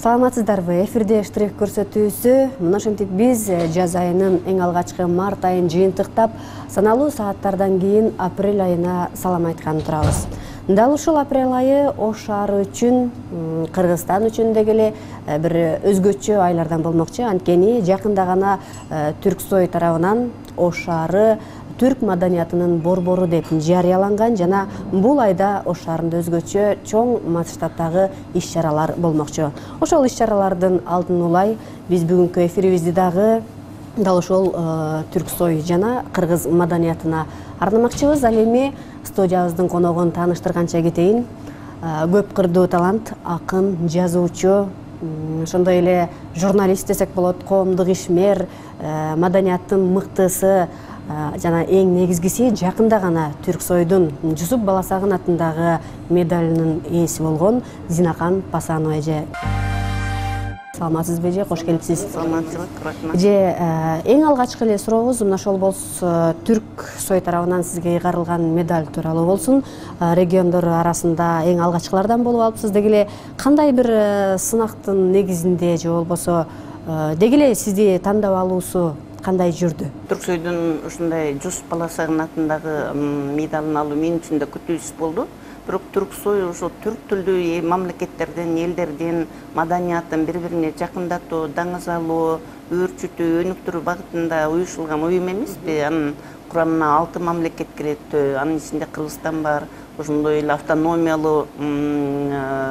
Саламатсыздарбы? Эфирде штрих көрсөтүүсү. Мына ошентип биз жаз айынын эң алгачкы март айын жыйынтыктап, саналуу сааттардан кийин апрель айына салам айткан турабыз. Дал ушул апрель айы Ош шаары үчүн, Кыргызстан үчүн деги эле бир өзгөчө айлардан болмокчу. Анткени жакында гана Түрксой тарабынан Ош шаары түрк маданиятынын борбору деп жарыяланган жана бул айда Ош шаарында өзгөчө чоң масштабтагы иш-чаралар болмокчу. Ошол иш-чаралардын алдын улай биз бүгүнкү эфирибизди дагы дал ошол Түрксой жана кыргыз маданиятына арнамакчыбыз. Ал эми студиябыздын коногун тааныштырганча кетейин. Көп кырдуу талант, акын, жазуучу, ошондой эле журналист десек болот, коомдук ишмер, маданияттын мыктысы жана эң негизгиси жакында гана Түрксойдун Жусуп Баласагын атындагы медалынын ээси болгон Зинакан Пасанова эже. Саламатсызбы эже, кош келипсиз. Саламатсызбы, рахмат. Эже, эң алгачкы эле сурообуз мына ошол болсо Түрксой тарабынан сизге ыйгарылган медаль тууралуу болсун. Региондор арасында эң алгачкылардан болуп алыпсыз. Деги эле кандай бир сынактын негизинде же болбосо деги эле сизди тандап алуусу кандай жүрдү? Түрксойдун ушундай Жусуп Баласагын атындагы медалын алуу мен үчүн да күтүүсүз болду. Бирок Түрксой ошо түрк тилдүү мамлекеттерден, элдердин маданияттын бири-бирине жакындатуу, даңыз алуу, өөрчүтүү, өнүктүрүү багытында уюшулган уюм эмеспи? Анын курамына 6 мамлекет кирет, анын ичинде Кыргызстан бар, ошондой эле автономиялуу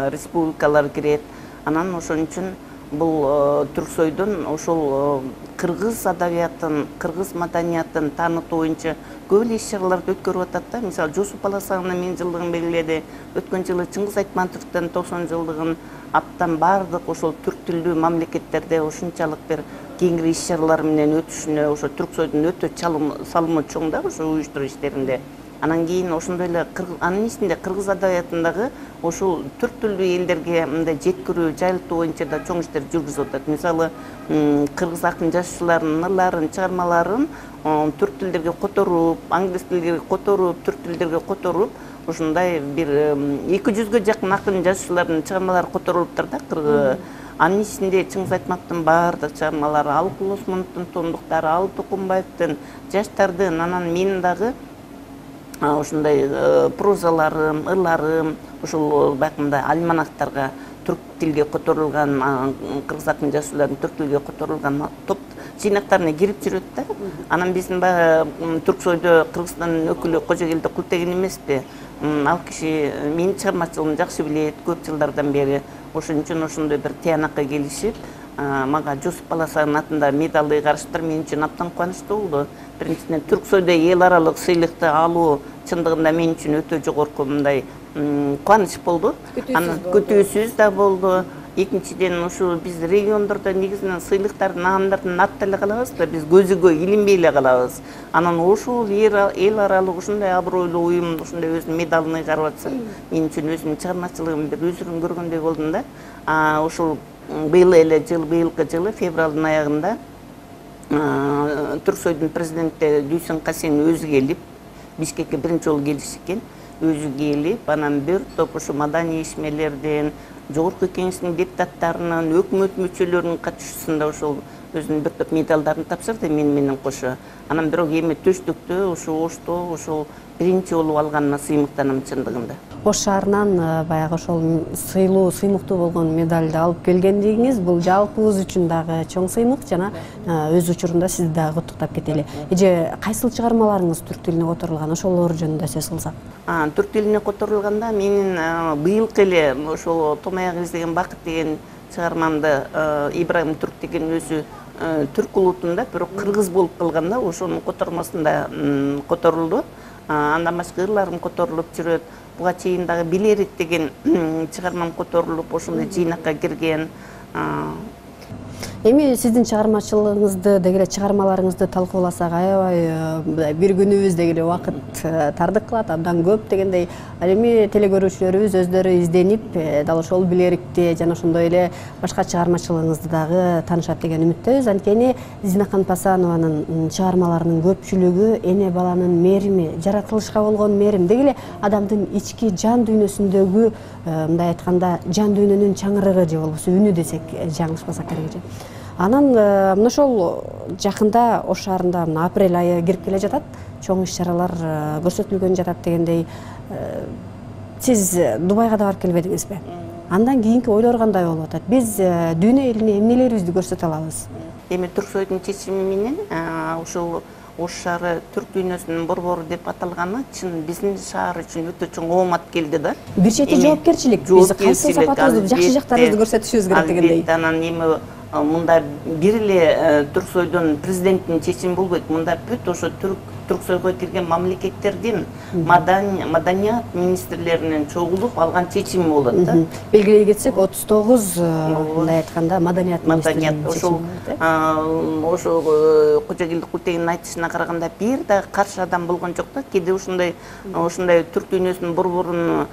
республикалар кирет. Анан ошон үчүн бул Түрксойдун ошол кыргыз адабиятын, кыргыз маданиятын таанытуу боюнча көп эле иш-чараларды өткөрүп атат да. Мисалы, Жусуп Баласагынын 1000 жылдыгын белгиледи. Өткөн жылы Чыңгыз Айтматовдун 90 жылдыгын аптан бардык ошол түрк тилдүү мамлекеттерде ушунчалык бир кеңири иш-чаралар менен өтүшүнө ошо Түрксойдун өтө салымы чоң да ошо уюштуруу иштеринде. Анан кийин ошондой эле анын ичинде кыргыз адабиятындагы ошол түрк тилдүү элдерге мындай жеткирүү, жайылтуу боюнча да чоң иштер жүргүзүп атат. Мисалы, кыргыз акын жазуучуларынын ырларын, чыгармаларын түрк тилдерге которуп, англис тилге которуп, түрк тилдерге которуп, ошондой бир 200-гө жакын акын жазуучулардын чыгармалары которулуптур да. Анын ичинде Чыңгыз Айтматовдун баардык чыгармалары, Алыкул Осмоновдун томдуктары, Алы Токумбаевдин, жаштардын, анан менин дагы ошондой прозаларым, ырларым, ошол баягындай альманахтарга түрк тилге которулган, кыргыз акын жазуучулардын түрк тилге которулган топ жыйнактарына кирип жүрөт да. Анан биздин баягы Түрксойдо Кыргызстандын өкүлү Кожогелди Култеген эмеспи? Ал киши менин чыгармачылыгымды жакшы билет көп жылдардан бери. Ошон үчүн ошондой бир тыянакка келишип, мага Жусуп Баласагын атында медалды ыйгарыштыр мен үчүн абдан кубанычтуу болду. Биринчиден Түрксойдо эл аралык сыйлыкты алуу чындыгында мен үчүн өтө жогорку мындай кубаныч болду. Анан күтүүсүз да болду. Экинчиден ушу биз региондордо негизинен сыйлыктардын наамдардын артта эле калабыз да, биз көзүгө илинбей эле калабыз. Анан ушул эл аралык ушундай абройлуу уюм ушундай өзүнүн медалын ыйгарып атса, мен үчүн өзүмдүн чыгармачылыгым бир өзүрүн көргөндөй болдум да. Ушул быйылкы жылы февралдын аягында Түрксойдун президенти Дүйсен Касен өзү келип, Бишкекке биринчи жолу келиши экен, өзү келип, анан бир топ ушу маданий ишмерлерден, жогорку кеңештин депутаттарынын, өкмөт мүчөлөрүнүн катышуусунда ошол өзүнүн бир топ медалдарын тапшырды менен кошо. Анан бирок эми төштүктө ушу Ошто ошол биринчи болуп алганына сыймыктанам чындыгында. Ош шаарынан баягы ошол сыймыктуу болгон медалды алып келгендигиңиз бул жалпыбыз үчүн дагы чоң сыймык жана өз учурунда сизди дагы куттуктап кетели. Эже, кайсыл чыгармаларыңыз түрк тилине которулган, ошолор жөнүндө сөз кылсак? Түрк тилине которулганда менин быйылкы эле ошол Том аягы издеген бакыт деген чыгармамды Ибрайым Түрк деген өзү түрк улутунда, бирок кыргыз болуп калганда ошонун котормосунда которулду. Андан башка ырларым которулуп жүрөт. Буга чейин дагы Билерик деген чыгармам которулуп, ошондой жыйнакка кирген. Эми сиздин чыгармачылыгыңызды деги эле чыгармаларыңызды талкууласак, аябай бир күнүбүз деги эле убакыт тардык кылат, абдан көп дегендей. Ал эми телекөрүүчүлөрүбүз өздөрү изденип, дал ошол Билерикти жана ошондой эле башка чыгармачылыгыңызды дагы таанышат деген үмүттөбүз. Анткени Зинакан Пасанованын чыгармаларынын көпчүлүгү эне баланын мээрими, жаратылышка болгон мээрим, деги эле адамдын ички жан дүйнөсүндөгү, мындай айтканда, жан дүйнөнүн чаңырыгы же болбосо үнү десек жаңылышпасак керек. Анан мына ошол жакында Ош шаарында апрель айы кирип келе жатат, чоң иш-чаралар көрсөтүлгөн жатат дегендей. Сиз Дубайга да барып келбедиңизби? Андан кийинки ойлор кандай болуп атат? Биз дүйнө элине эмнелерибизди көрсөтө алабыз? Эми Түрксойдун чечими менен ушул Ош шаары түрк дүйнөсүнүн борбору деп аталганы чын биздин шаар үчүн өтө чоң оомат келди да. Бир чети жоопкерчилик. Биз кайсы сапатыбызды, жакшы жактарыбызды көрсөтүшүбүз керек дегендей. Анан эми мында бир эле Түрксойдун президентинин чечими болбойт. Мында бүт ошо Түрксойго кирген мамлекеттердин маданият министрлеринин чогулуп алган чечими болот да. Белгилей кетсек, 39 мындай айтканда маданият министринин чечими. Ошол Кожогелди Култегиндин айтышына караганда бир да каршы адам болгон жок да. Кээде ушундай түрк дүйнөсүнүн борборун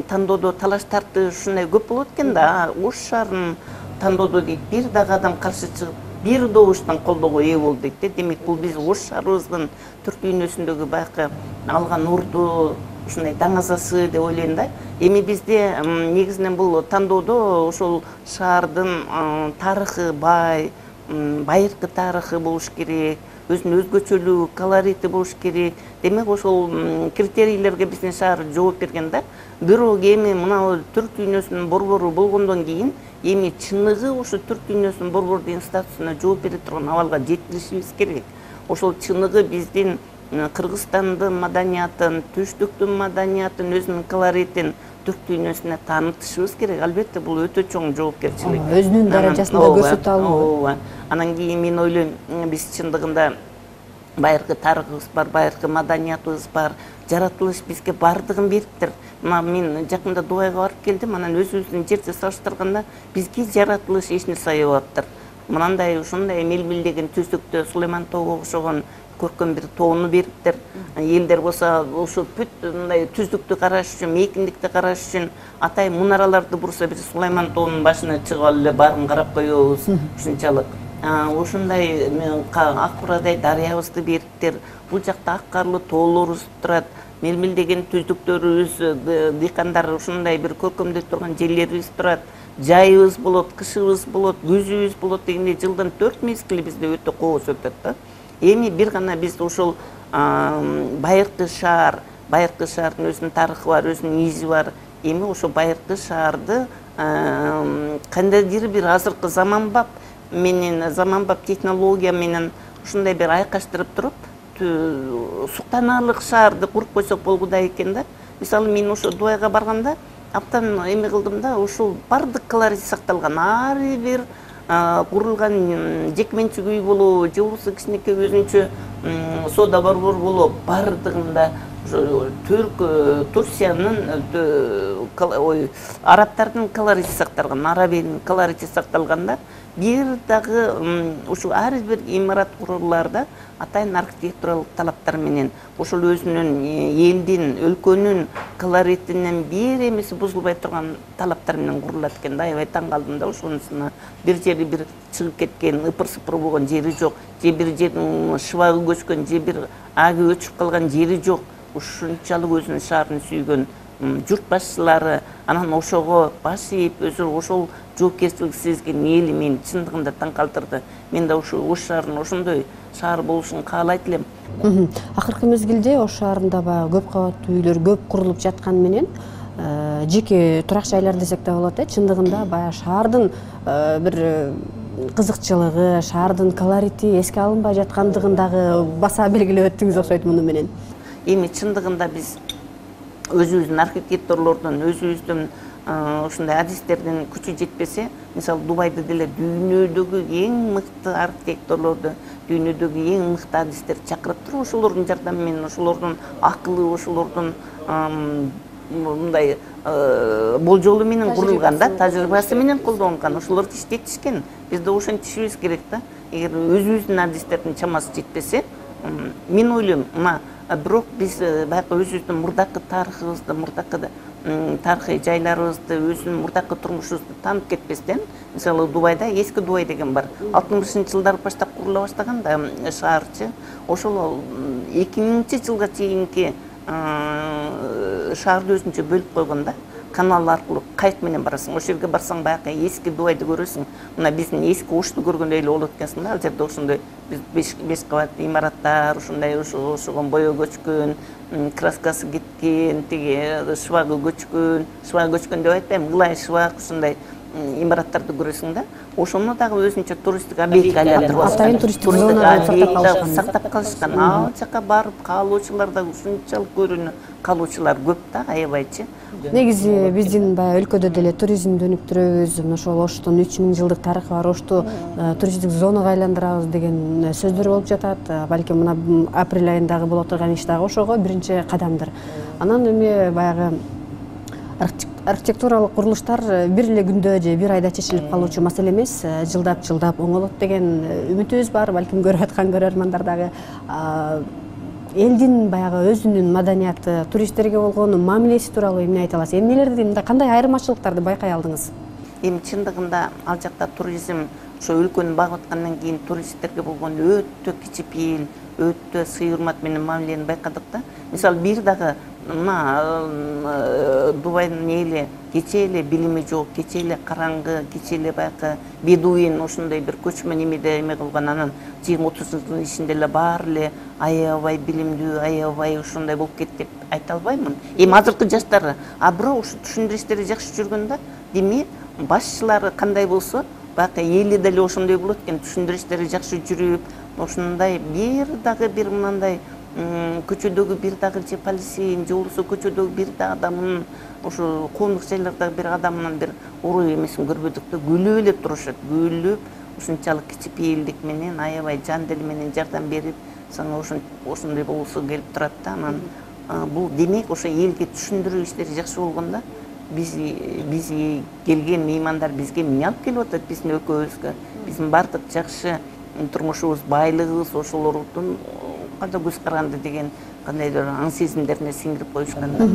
тандоодо талаш тартыш ушундай көп болот экен да. Ош шаарынын тандоодо дейт бир дагы адам каршы чыгып бир добуштан колдоого ээ болду дейт. Демек бул биз Ош шаарыбыздын түрк дүйнөсүндөгү байкы алган орду, ушундай даңазасы деп ойлойм да. Эми бизде негизинен бул тандоодо ошол шаардын тарыхы бай, байыркы тарыхы болуш керек, өзүнүн өзгөчөлүгү, колорити болуш керек. Демек ошол критерийлерге биздин шаар жооп берген да. Бирок эми мына түрк дүйнөсүнүн борбору болгондон кийин эми чыныгы ошо түрк дүйнөсүнүн борбор деген статусуна жооп бере турган абалга жеткиришибиз керек. Ошол чыныгы биздин Кыргызстандын маданиятын, Түштүктүн маданиятын, өзүнүн колоритин түрк дүйнөсүнө таанытышыбыз керек. Албетте бул өтө чоң жоопкерчилик. Өзүнүн даражасында көрсөтө алуу. Анан кийин мен ойлойм, биз чындыгында байыркы тарыхыбыз бар, байыркы маданиятыбыз бар. Жаратылыш бизге бардыгын бериптир. Мен жакында Дубайга барып келдим, анан өзүбүздүн жерди салыштырганда бизге жаратылыш эч нерсе аябаптыр. Мынандай ушундай мелмилдеген түздүктө Сулайман тоого окшогон көркөм бир тоону бериптир. Элдер болсо ошо бүт мындай түздүктү караш үчүн, мейкиндикти караш үчүн атай мунараларды бурса бир Сулайман тоонун башына чыгып алып эле баарын карап коебуз. Ушунчалык ушундай ак бурадай дарыябызды бериптир. Бул жакта ак карлы тоолорубуз турат. Мелмилдеген түздүктөрүбүз, дыйкандар ушундай бир көркөмдөп турган жерлерибиз турат. Жайыбыз болот, кышыбыз болот, күзүбүз болот дегендей жылдын 4 мезгили бизде өтө кооз өтөт да. Эми бир гана биз ошол байыркы шаардын өзүнүн тарыхы бар, өзүнүн изи бар. Эми ошо байыркы шаарды кандайдыр бир азыркы заманбап технология менен ушундай бир айкаштырып туруп суктанаарлык шаарды куруп койсок болгудай экен да. Мисалы мен ошо Дубайга барганда абдан эме кылдым да, ушул бардык колорит сакталган. Ар бир курулган жекменчик үй болобу, же болбосо кичинекей өзүнчө соода борбор болобу, бардыгында Турциянын, арабтардын колорити сакталган, арабиянын колорити сакталган да. Бир дагы ушул ар бир имарат курулууларда атайын архитектуралык талаптар менен ошол өзүнүн элдин, өлкөнүн колоритинен бир эмеси бузулбай турган талаптар менен курулат экен да. Аябай таң калдым да ошонусуна. Бир жери бир чыгып кеткен, ыпыр-сыпыр болгон жери жок, же бир жердин шыбагы көчкөн, же бир аги өчүп калган жери жок. Ушунчалык өзүнүн шаарын сүйгөн журт башчылары, анан ошого баш ийип, өзү ошол жоопкерчилик сезген эли мени чындыгында таң калтырды. Мен да ошо Ош шаарынын ошондой шаар болушун каалайт элем. Акыркы мезгилде Ош шаарында баягы көп кабаттуу үйлөр көп курулуп жаткан менен жеке турак жайлар десек да болот, чындыгында баягы шаардын бир кызыкчылыгы, шаардын колорити эске алынбай жаткандыгын дагы баса белгилеп өттүңүз окшойт муну менен. Эми чындыгында биз өзүбүздүн архитекторлордун, өзүбүздүн ушундай адистердин күчү жетпесе, мисалы Дубайды деле дүйнөдөгү эң мыкты архитекторлорду, дүйнөдөгү эң мыкты адистерди чакырып туруп, ошолордун жардамы менен, ошолордун акылы, ошолордун мындай болжолу менен курулган да, тажрыйбасы менен колдонгон, ошолорду иштетишкен. Биз да ошентишибиз керек да. Эгер өзүбүздүн адистердин чамасы жетпесе, мен ойлойм, бирок биз баягы өзүбүздүн мурдакы тарыхыбызды, мурдакы тарыхый жайларыбызды, өзүнүн мурдакы турмушубузду таанып кетпестен, мисалы Дубайда эски Дубай деген бар. 60-жылдары баштап курула баштаган да шаарчы. Ошол 2000-жылга чейинки шаарды өзүнчө бөлүп койгон да. Канал аркылуу кайык менен барасың. Ошол жерге барсаң баягы эски Дубайды көрөсүң. Мына биздин эски Ошту көргөндөй эле болот экенсиң да. Ал жерде ошондой биз 5 кабат имараттар, ошондой ошого боё көчкөн, краскасы кеткен, тиги шыбагы көчкөн деп айтпайм, ылай шыбак ушундай имараттарды көрөсүң да. Ошону дагы өзүнчө туристтик объектке айландырып атайын туристтик зона сактап калышкан. Ал жака барып калуучулар да ушунчалык көрүүнү калуучулар көп да, аябайчы. Негизи биздин баягы өлкөдө деле туризмди өнүктүрөбүз, ошол Оштун 3000 жылдык тарыхы бар, Ошту туристтик зонага айландырабыз деген сөздөр болуп жатат. Балким мына апрель айындагы боло турган иш дагы ошого биринчи кадамдыр. Анан эми баягы архитектуралык курулуштар бир эле күндө же бир айда чечилип калуучу маселе эмес, жылдап оңолот деген үмүтүбүз бар. Балким көрүп аткан көрөрмандар дагы элдин баягы өзүнүн маданияты, туристтерге болгон мамилеси тууралуу эмне айта аласыз? Эмнелерди, мындай кандай айырмачылыктарды байкай алдыңыз? Эми чындыгында ал жакта туризм ошо өлкөнү багып аткандан кийин туристтерге болгон өтө кичипейил, өтө сый урмат менен мамилени байкадык да. Мисалы бир дагы мына Дубайдын эли кече эле билими жок, кече эле караңгы, кече эле баягы бедуин ошондой бир көчмө немеде эме кылган, анан 20-30 жылдын ичинде эле баары эле аябай билимдүү, аябай ошондой болуп кетти деп айта албаймын. Эми азыркы жаштар, бирок ушу түшүндүрүштөрү жакшы жүргөндө, демек башчылары кандай болсо, баягы эли деле ошондой болот экен, түшүндүрүштөрү жакшы жүрүп, ошондой бир дагы бир мындай көчөдөгү бир дагы же полицейин же болбосо көчөдөгү бир дагы адамын, ошо коомдук жайлардагы бир адамынын бир уруу эмесин көрбөдүк да, күлүп эле турушат, күлүп ушунчалык кичипейилдик менен, аябай жан дили менен жардам берип, сага ошондой болсо келип турат да. Анан бул демек ошо элге түшүндүрүү иштери жакшы болгондо, биз келген меймандар бизге эмне алып келип атат, биздин өлкөбүзгө, биздин бардык жакшы турмушубуз, байлыгыбыз ошолордун кандай көз каранды деген кандайдыр аң сезимдерине сиңирип коюшкан да.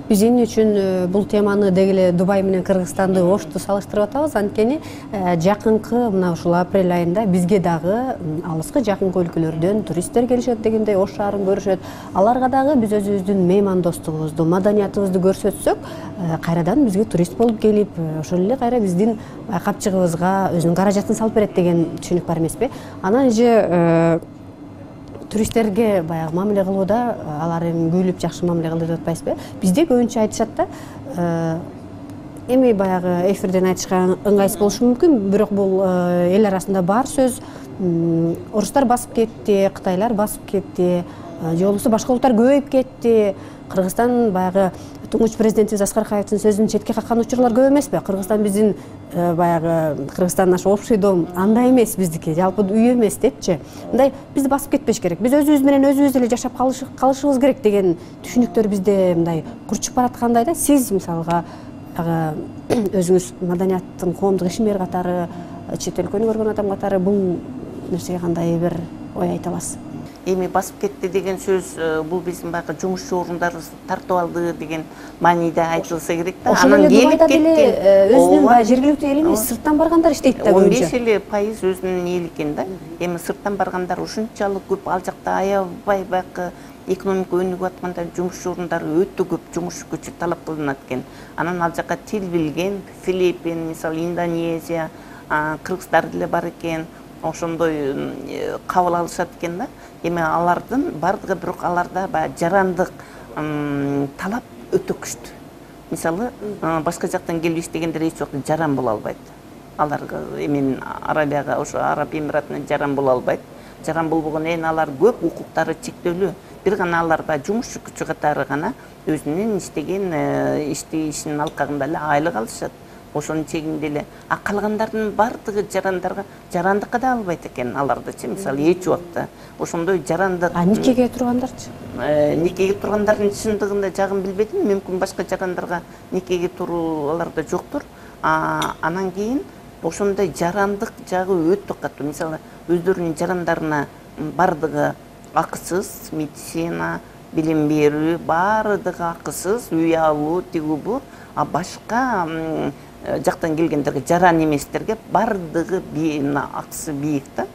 Биз эмне үчүн бул теманы деги эле Дубай менен Кыргызстанды, Ошту салыштырып атабыз? Анткени жакынкы мына ушул апрель айында бизге дагы алыскы жакынкы өлкөлөрдөн туристтер келишет дегендей, Ош шаарын көрүшөт. Аларга дагы биз өзүбүздүн меймандостугубузду, маданиятыбызды көрсөтсөк, кайрадан бизге турист болуп келип, ошол эле кайра биздин капчыгыбызга өзүнүн каражатын салып берет деген түшүнүк бар эмеспи? Анан же туристтерге баягы мамиле кылууда алар эми күлүп жакшы мамиле кылды деп атпайсызбы? Бизде көбүнчө айтышат да, эми баягы эфирден айтышка ыңгайсыз болушу мүмкүн, бирок бул эл арасында бар сөз. Орустар басып кетти, кытайлар басып кетти, же болбосо башка улуттар көбөйүп кетти. Кыргызстан баягы туңгуч президентибиз Аскар Акаевдин сөзүн четке каккан учурлар көп эмеспи? Кыргызстан биздин баягы Кыргызстан наш общий дом андай эмес биздики, жалпы үй эмес депчи. Мындай бизди басып кетпеш керек. Биз өзүбүз менен өзүбүз эле жашап калышыбыз керек деген түшүнүктөр бизде мындай курчуп бараткандай да. Сиз мисалга өзүңүз маданияттын коомдук ишмер катары, чет өлкөнү көргөн адам катары бул нерсеге кандай бир ой айта аласыз? Эми басып кетти деген сөз бул биздин баягы жумушчу орундарыбызды тартып алды деген мааниде айтылса керек да. Анан келип кетти. Өзүнүн баягы жергиликтүү эл эмес, сырттан баргандар иштейт да көбүнчө. 15% өзүнүн эли экен да. Эми сырттан баргандар ушунчалык көп, ал жакта аябай баягы экономика өнүгүп атканда жумушчу орундары өтө көп, жумуш күчү талап кылынат экен. Анан ал жака тил билген, Филиппин, мисалы Индонезия, кыргыздар деле бар экен. Ошондой кабыл алышат экен да. Эми алардын бардыгы, бирок аларда баягы жарандык талап өтө күчтүү. Мисалы башка жактан келип иштегендер эч убакта жаран боло албайт. Аларга эми Арабияга, ошо Араб Эмиратына жаран боло албайт. Жаран болбогон эне алар көп, укуктары чектелүү. Бир гана алар баягы жумушчу күчү катары гана өзүнүн иштеген ишинин алкагында эле айлык алышат. Ошонун чегинде эле. Калгандардын бардыгы жарандыкка да албайт экен алардычы, мисалы эч убакта. Ошондой жарандык. Никеге тургандарчы? никеге тургандардын чындыгында жагын билбедим, мүмкүн башка жарандарга никеге туруу аларда жоктур. Анан кийин ошондой жарандык жагы өтө катуу. Мисалы, өздөрүнүн жарандарына бардыгы акысыз, медицина, билим берүү баардыгы акысыз, үй алуу, тигүү бу. А башка жактан келгендерге, жаран эместерге бардыгы акысы бийик да.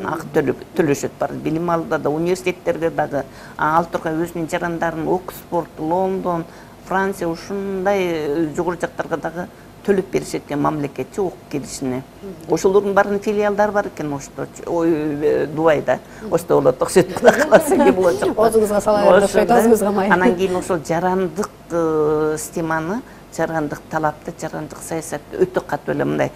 Ак төлөшөт бар. Билим алууда да, университеттерде дагы. Ал тургай өзүнүн жарандарын Оксфорд, Лондон, Франция ушундай жогору жактарга дагы төлөп беришет экен мамлекетчи окуп келишине. Ошолордун баарынын филиалдары бар экен ошто. Дубайда. Ошто болот, окшойт, кудай кааласа эме болочок. Өзүңүзгө салайыр, окшойт, өзүңүзгө май. Анан кийин ошол жарандык системаны, жарандык талапты, жарандык саясатты өтө катуу эле мындай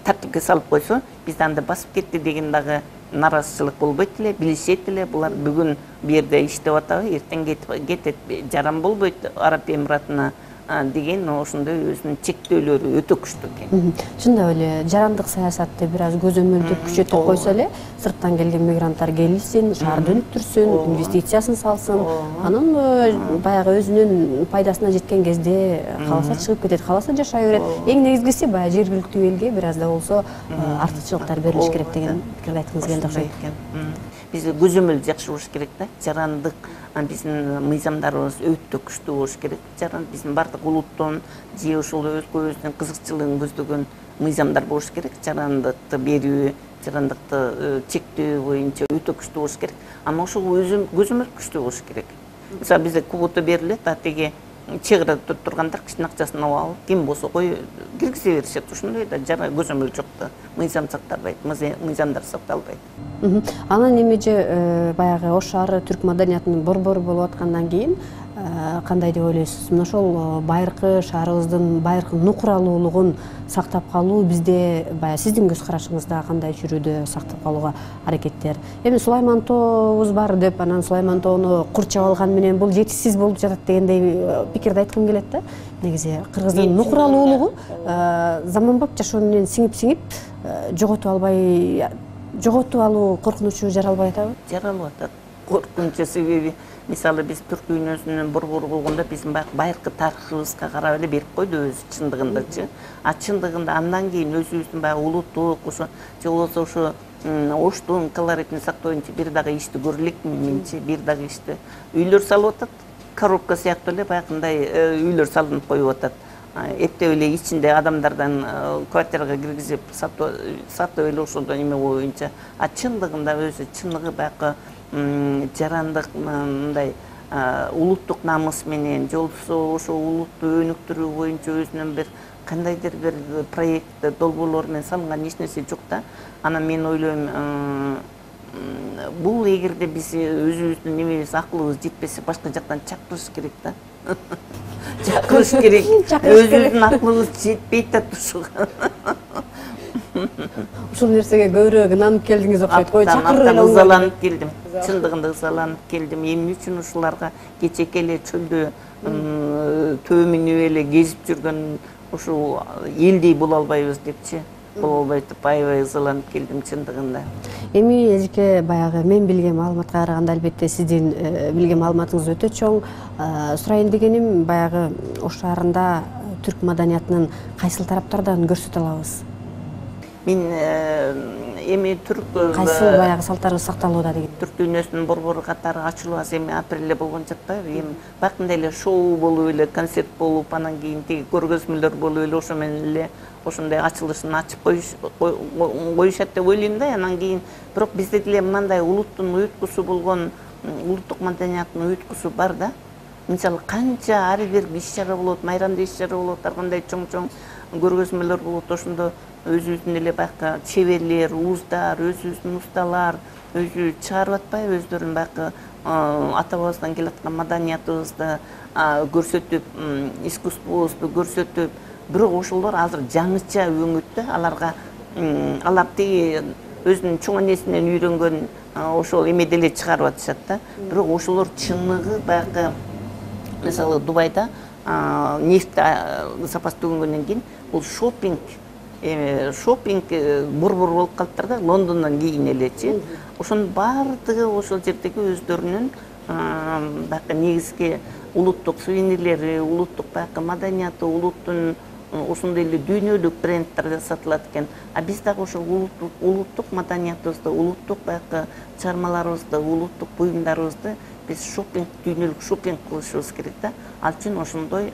тартипке салып койсо, бизди анда басып кетти деген дагы наразычылык болбойт эле, билишет эле. Булар бүгүн бу жерде иштеп атабы, эртең кетет, жаран болбойт Араб Эмиратына деген ошондой өзүнүн чектөөлөрү өтө күчтүү экен. Чындап эле жарандык саясатты бир аз көзөмөлдөп күчөтүп койсо эле, сырттан келген мигранттар келишсин, шаарды өнүктүрсүн, инвестициясын салсын, анан баягы өзүнүн пайдасына жеткен кезде кааласа чыгып кетет, кааласа жашай берет. Эң негизгиси баягы жергиликтүү элге бир аз да болсо артыкчылыктар берилиш керек деген пикирди айткыңыз келди окшойт. Биз көзөмөл жакшы болуш керек да. Жарандык биздин мыйзамдарыбыз өтө күчтүү болуш керек. Жаран биздин бардык улуттун же ошол өзүнүн кызыкчылыгын көздөгөн мыйзамдар болуш керек. Жарандыкты берүү, жарандыкты чектөө боюнча өтө күчтүү болуш керек. Ана ошол көзөмөл күчтүү болуш керек. Мисалы бизде квота берилет, теги чек арада тургандар кичине акчасын алып, ким болсо кой киргизе беришет. Ошондой да көзөмөл жок да. Мыйзам сакталбайт, мыйзамдар сакталбайт. Анан эмеже баягы Ош шаары түрк маданиятынын борбору болуп аткандан кийин кандай деп ойлойсуз? Мына ошол байыркы шаарыбыздын байыркы нукуралуулугун сактап калуу бизде баягы сиздин көз карашыңызда кандай жүрүүдө сактап калууга аракеттер? Эми Сулайман тообуз бар деп, анан Сулайман тоону курчап алган менен бул жетишсиз болуп жатат дегендей пикирди айткым келет да. Негизи кыргыздын нукуралуулугу заманбап жашоо менен сиңип жоготуп алуу коркунучу жаралбай атабы? Жаралып атат. Коркунучу себеби, мисалы биз түрк дүйнөсүнүн борбору болгондо биздин байыркы тарыхыбызга карап эле берип койду өзү чындыгындачы. А чындыгында андан кийин өзүбүздүн баягы улуттук ошо же болбосо ошо Оштун колоритин сактоо боюнча бир дагы ишти көрө элекмин менчи, бир дагы ишти. Үйлөр салып атат, коробка сыяктуу эле баягындай үйлөр салынып коюп атат. Эптеп эле ичинде адамдардан квартирага киргизип сатып эле ошондо эме боюнча. А чындыгында өзү чыныгы баягы жарандык мындай улуттук намыс менен же болбосо ошо улутту өнүктүрүү боюнча өзүнүн бир кандайдыр бир проект долбоорлор менен салынган эч нерсе жок да. Анан мен ойлойм, бул эгерде биз өзүбүздүн немебиз аклыбыз жетпесе башка жактан чакырыш керек да. Чакырыш керек. Өзүбүздүн аклыбыз жетпейт да ушуга. Ушул нерсеге көбүрөөк ынанып келдиңиз окшойт. Кой чакырып эле ызаланып келдим. Чындыгында ызаланып келдим. Эмне үчүн ушуларга кечеке эле чөлдө төмүнүп эле кезип жүргөн ушул элдей боло албайбыз депчи. Боло албайт деп аябай ызаланып келдим чындыгында. Эми эжеке баягы мен билген маалыматка караганда албетте сиздин билген маалыматыңыз өтө чоң. Сурайын дегеним баягы Ош шаарында түрк маданиятынын кайсыл тараптардан көрсөтө алабыз? Мен эми түрк кайсыл баягы салттарыбыз сакталууда деген. Түрк дүйнөсүнүн борбору катары ачылуу аз эми апрелде болгон жатпайбы? Эми бакында эле шоу болуп эле, концерт болуп, анан кийин теги көргөзмөлөр болуп эле ошо менен эле ошондой ачылышын ачып коюшат деп ойлойм да. Анан кийин бирок бизде деле мындай улуттун уюткусу болгон, улуттук маданияттын уюткусу бар да. Мисалы канча ар бир иш-чара болот, майрамда иш-чара болот, ар кандай чоң-чоң көргөзмөлөр болот. Ошондо өзүбүздүн эле баягы чеберлер, ууздар, өзүбүздүн усталар өзү чыгарып атпайбы өздөрүнүн баягы ата-бабабыздан келаткан маданиятыбызды көрсөтүп, искусствобузду көрсөтүп, бирок ошолор азыр жаңыча өңүттө. Алар теги өзүнүн чоң энесинен үйрөнгөн ошол эмеде эле чыгарып атышат да. Бирок ошолор чыныгы баягы мисалы Дубайда нефть запас төгөнгөндөн кийин бул шопинг борбор болуп калыптыр да, Лондондон кийин элечи. Ошонун баардыгы ошол жердеги өздөрүнүн баягы негизги улуттук сувенирлери, улуттук баягы маданияты, улуттун ошондой эле дүйнөлүк бренддер сатылат экен. А биз дагы ошо улуттук маданиятыбызды, улуттук баягы чыгармаларыбызды, улуттук буюмдарыбызды биз дүйнөлүк шопинг кылышыбыз керек да. Ал үчүн ошондой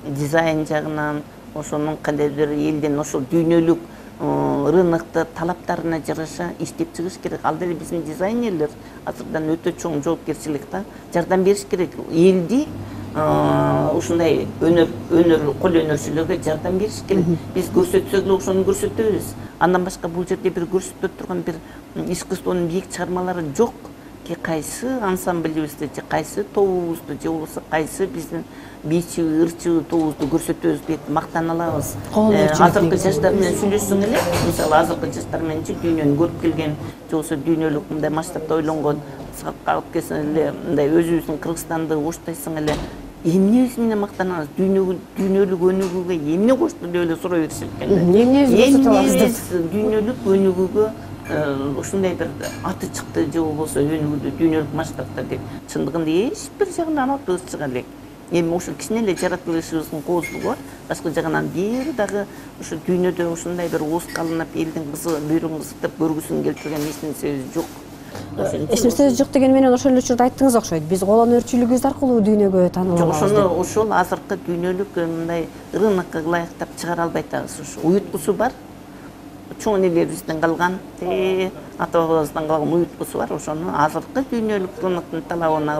дизайн жагынан, ошонун кандайдыр элдин ошол дүйнөлүк рынокто талаптарына жараша иштеп чыгыш керек. Ал деле биздин дизайнерлер азырдан өтө чоң жоопкерчилик да. Жардам бериш керек. Элди ушундай кол өнөрчүлөргө жардам бериш керек. Биз көрсөтсөк эле ошону көрсөтөбүз. Андан башка бул жерде бир көрсөтө турган бир искусствонун бийик чыгармалары жок. Кайсы ансамблибизди, же кайсы тобубузду, же болбосо кайсы биздин бийчи, ырчы тобубузду көрсөтөбүз деп мактана алабыз. Азыркы жаштар менен сүйлөшсөң эле, мисалы азыркы жаштар менен дүйнөнү көрүп келген, же болбосо дүйнөлүк мындай масштабта ойлонгон, алып келсең эле мындай өзүбүздүн Кыргызстанды оштойсоң эле, эмнебиз менен мактанабыз? Дүйнөлүк өнүгүүгө эмне кошту деп эле сурай беришет экен. Эмнебиз дүйнөлүк өнүгүүгө ушундай бир аты чыкты, же болбосо өнүгүүдө дүйнөлүк масштабта деп чындыгында эч бир жагынан атыбыз чыга элек. Эми ошо кичине эле жаратылышыбыздын кооздугу бар. Башка жагынан бир дагы ошо дүйнөдө ушундай бир уус калынып, элдин бүйрөгүн кысытып көргүсүн келтирген эч нерсебиз жок. Эч нерсебиз жок деген менен ошол эле учурда айттыңыз окшойт. Биз кол өнөрчүлүгүбүз аркылуу дүйнөгө таанылабыз. Ошол азыркы дүйнөлүк мындай рынокко ылайыктап чыгара албай атабыз. Ошо уюткусу бар. Чоң энелерибизден калган, ата бабабыздан калган уюткусу бар. Ошону азыркы дүйнөлүк рыноктун талабына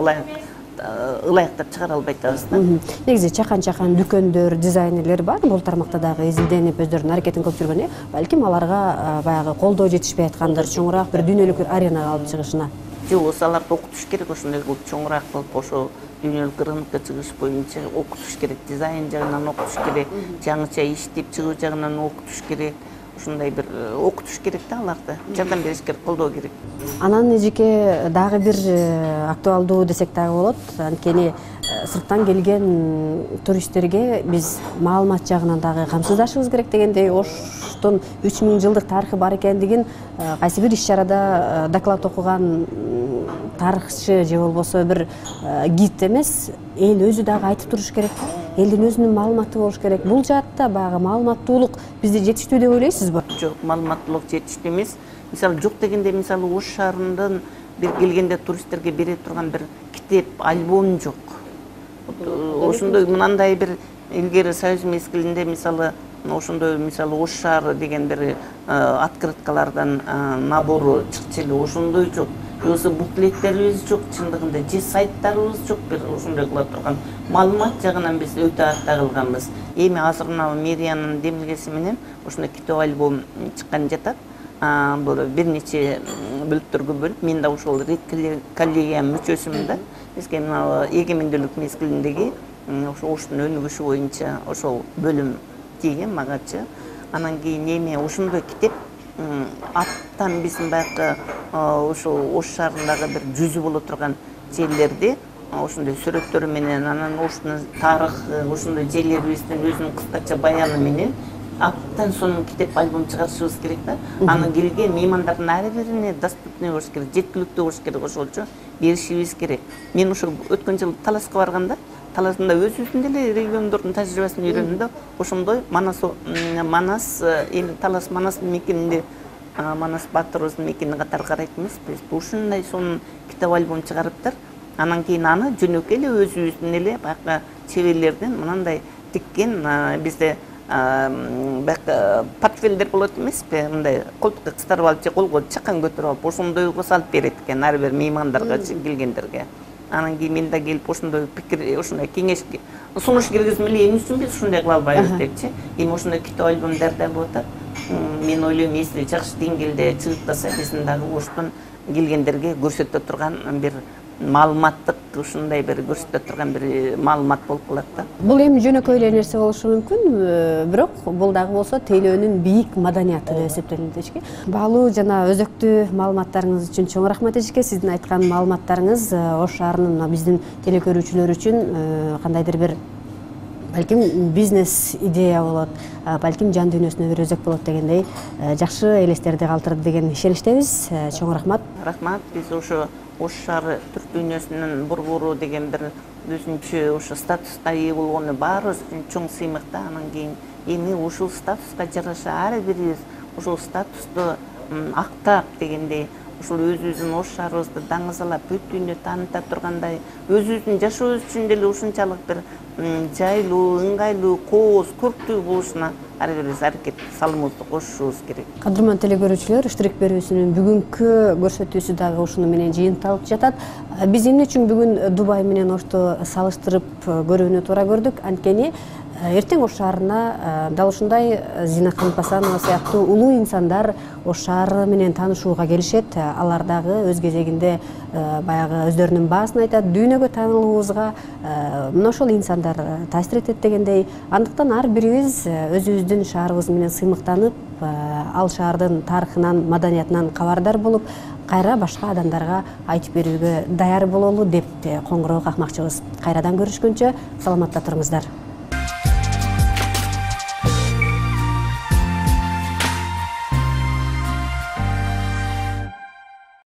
ылайыктап чыгара албай атабыз да. Негизи чакан дүкөндөр, дизайнерлер бар. Бул тармакта дагы изилденип өздөрүнүн аракетин кылып жүргөн. Балким аларга баягы колдоо жетишпей аткандыр, чоңураак бир дүйнөлүк бир аренага алып чыгышына. Же болбосо аларды окутуш керек, ошондой кылып чоңураак кылып ошо дүйнөлүк рынокко чыгыш боюнча окутуш керек, дизайн жагынан окутуш керек, жаңыча иштеп чыгуу жагынан окутуш керек. Ушундай бир окутуш керек да аларды, жардам бериш керек, колдоо керек. Анан эжеке дагы бир актуалдуу десек дагы болот. Анткени сырттан келген туристтерге биз маалымат жагынан дагы камсыздашыбыз керек дегендей, Оштун 3000 жылдык тарыхы бар экендигин кайсы бир иш-чарада доклад окуган тарыхчы же болбосо бир гид эмес, эл өзү дагы айтып туруш керек. Элдин өзүнүн маалыматы болуш керек. Бул жаатта баягы маалыматтуулук бизде жетиштүү деп ойлойсузбу? Жок, маалыматтуулук жетиштүү эмес. Мисалы жок дегенде, мисалы Ош шаарынан бир келгенде туристтерге бере турган бир китеп, альбом жок. Ошондой мынандай бир илгери Союз мезгилинде мисалы ошондой мисалы Ош шаары деген бир открыткалардан набору чыкчу эле, ошондой жок. Болбосо буклеттерибиз жок, чындыгында же сайттарыбыз жок, бир ошондой кыла турган маалымат жагынан биз өтө артта калганбыз. Эми азыр мына мэриянын демилгеси менен ошондой китеп альбом чыккан жатат. Бул бир нече бөлүктөргө бөлүп, мен да ошол коллегия мүчөсүмүн да. Бизге мына эгемендүүлүк мезгилиндеги ошо Оштун өнүгүшү боюнча ошол бөлүм тийген магачы. Анан кийин эми ошондой китеп аттан биздин баягы ошол Ош шаарындагы бир жүзү боло турган жерлерди ошондой сүрөттөрү менен, анан Оштун тарыхы, ошондой жерлерибиздин өзүнүн кыскача баяны менен аттан сонун китеп альбом чыгарышыбыз керек да. Анын келген меймандардын ар бирине доступный болуш керек, жеткиликтүү болуш керек, ошолчо беришибиз керек. Мен ошо өткөн жылы Таласка барганда, Таласында өзүбүздүн деле региондордун тажрыйбасын үйрөндүм да. Ошондой Манас эми Талас Манас мекенинде Манас Батырыбыздын мекени катары карайт эмеспиз. Ушундай сонун китеп альбом чыгарыптыр. Анан кийин аны жөнөкөй эле өзүбүздүн эле баягы чеберлерден мынандай тиккен бизде баягы портфелдер болот эмеспи? Мындай колтукка кыстырып алып же колго чакан көтөрүп алып ошондойго салып берет экен ар бир меймандарга, келгендерге. Анан кийин мен да келип ошондой пикир, ошондой кеңеш сунуш киргизим эле, эмне үчүн биз ушундай кыла албайбыз депчи. Эми ошондой китеп альбом даярдалып атат. Мен ойлойм, если жакшы деңгээлде чыгыптаса, биздин дагы Оштун келгендерге көрсөтө турган бир маалыматтык, ушундай бир көрсөтө турган бир маалымат болуп калат да. Бул эми жөнөкөй эле нерсе болушу мүмкүн, бирок бул дагы болсо тейлөөнүн бийик маданияты деп эсептелет эжеке. Баалуу жана өзөктүү маалыматтарыңыз үчүн чоң рахмат эжеке. Сиздин айткан маалыматтарыңыз Ош шаарынын биздин телекөрүүчүлөр үчүн кандайдыр бир балким бизнес идея болот, балким жан дүйнөсүнө бир өзөк болот дегендей жакшы элестерди калтырды деген ишеничтебиз. Чоң рахмат. Рахмат. Биз ошо Ош шаары түрк дүйнөсүнүн борбору деген бир өзүнчө ошо статуска ээ болгону баарыбыз үчүн чоң сыймык да. Анан кийин эми ушул статуска жараша ар бирибиз ушул статусту актап дегендей, ушул өзүбүздүн Ош шаарыбызды даңазалап бүт дүйнө тааныта тургандай, өзүбүздүн жашообуз үчүн деле ушунчалык бир жайлуу, ыңгайлуу, кооз, көрктүү болушуна ар бирибиз аракет салымыбызды кошушубуз керек. Кадырман телекөрүүчүлөр, Штрих берүүсүнүн бүгүнкү көрсөтүүсү дагы ушуну менен жыйынталып жатат. Биз эмне үчүн бүгүн Дубай менен Ошту салыштырып көрүүнү туура көрдүк? Анткени эртең Ош шаарына дал ушундай Зина Канпасанова сыяктуу улуу инсандар Ош шаары менен таанышууга келишет. Алар дагы өз кезегинде баягы өздөрүнүн баасын айтат, дүйнөгө таанылуубузга мына ошол инсандар таасир этет дегендей. Андыктан ар бирибиз өзүбүздүн шаарыбыз менен сыймыктанып, ал шаардын тарыхынан, маданиятынан кабардар болуп, кайра башка адамдарга айтып берүүгө даяр бололу деп коңгуроо какмакчыбыз. Кайрадан көрүшкөнчө саламатта туруңуздар.